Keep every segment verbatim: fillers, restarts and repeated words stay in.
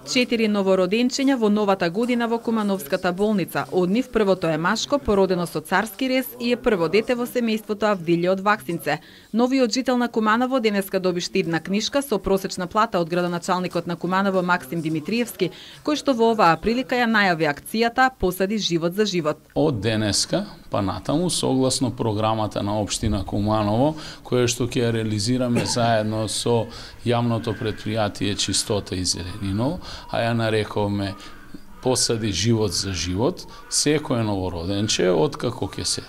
Четири новороденчиња во новата година во Кумановската болница. Од нив првото е машко, породено со царски рез и е прво дете во семејството Авдилје од Ваксинце. Новиот жител на Куманово денеска доби штидна книшка со просечна плата од градоначалникот на Куманово Максим Димитриевски, кој што во оваа прилика ја најави акцијата Посади живот за живот. Од денеска па натаму, согласно програмата на општина Куманово, која што ќе ја реализираме заедно со јавното предпријатие Чистота и Зелениново, а ја нарекуваме Посади живот за живот, секој новороденче, откако ќе се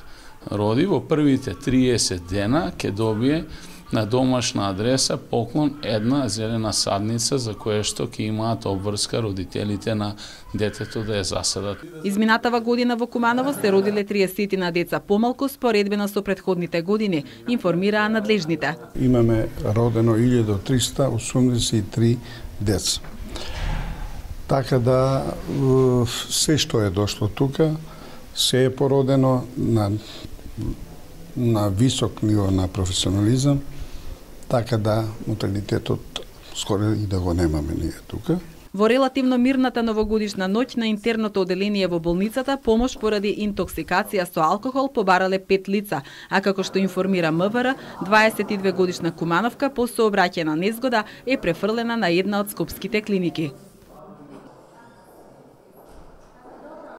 роди, во првите триесет дена ќе добие на домашна адреса поклон една зелена садница за која што ќе имаат обврска родителите на детето да ја засадат. Изминатава година во Куманово се родиле триесет на деца помалку споредбено со претходните години, информираа надлежните. Имаме родено илјада триста осумдесет и три деца. Така да се што е дошло тука, се е породено на на висок ниво на професионализам, така да муталитетот скоро и да го немаме ние тука. Во релативно мирната новогодишна ноќ на интерното оделение во болницата помош поради интоксикација со алкохол побарале пет лица, а како што информира МВР, дваесет и две годишна Кумановка по сообраќајна незгода е префрлена на една од скопските клиники.